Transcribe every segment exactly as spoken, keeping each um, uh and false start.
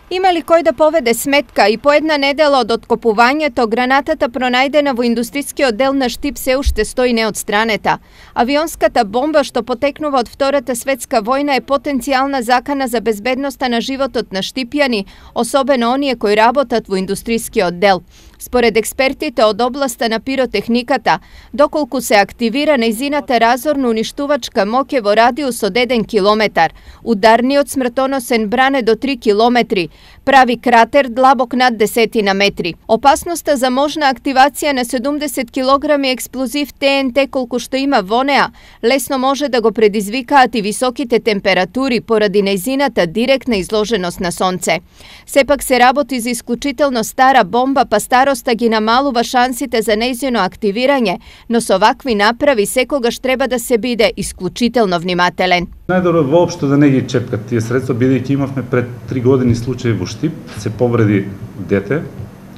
Има ли кој да поведе сметка и по една недела од откопувањето, гранатата пронајдена во индустрискиот дел на Штип се уште стои неотстранета. Авионската бомба што потекнува од Втората светска војна е потенцијална закана за безбедноста на животот на штипјани, особено оние кои работат во индустрискиот дел. Според експертите од областа на пиротехниката, доколку се активира нејзината разорно-уништувачка моќ е во радиус од еден километар, ударниот смртоносен бран е до три километри, прави кратер длабок над десетина метри. Опасноста за можна активација на седумдесет килограми експлозив Т Н Т колку што има во неа, лесно може да го предизвикаат и високите температури поради нејзината директна изложеност на сонце. Сепак се работи за исклучително стара бомба, па староста ги намалува шансите за нејзино активирање, но со вакви направи секогаш треба да се биде исклучително внимателен. Најдобро воопшто да не ги чепкат тие средства, бидејќи имавме пред три години случај во Штип, се повреди дете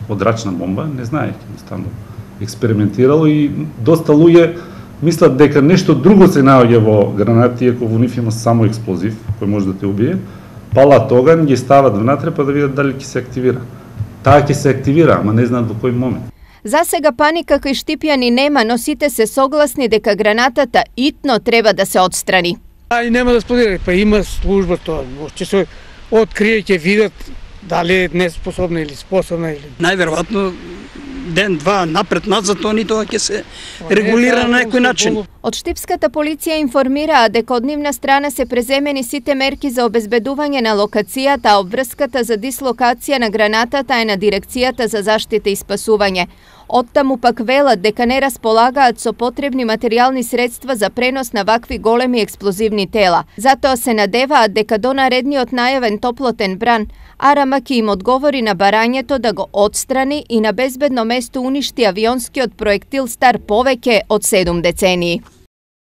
од рачна бомба, не знаејќи, едноставно експериментирало и доста луѓе мислат дека нешто друго се наоѓа во гранати, иако во нив има само експлозив кој може да те убие. Палат оган, ги стават внатре па да видат дали ќе се активира. Таа ќе се активира, ама не знаат во кој момент. За сега паника кај штипјани нема, но сите се согласни дека гранатата итно треба да се отстрани. А и нема да споделат, па има служба тоа, ќе се открие, ќе видат дали е неспособна или способна или. Најверојатно ден-два напред-назад они тоа ќе се регулира на некој начин. Од штипската полиција информираа дека од нивна страна се преземени сите мерки за обезбедување на локацијата, а обврската за дислокација на гранатата е на Дирекцијата за заштита и спасување. Оттаму пак велат дека не располагаат со потребни материјални средства за пренос на вакви големи експлозивни тела. Затоа се надеваат дека до наредниот најавен топлотен бран, Арама ќе им одговори на барањето да го отстрани и на безбедно место уништи авионскиот проектил стар повеќе од седум децении.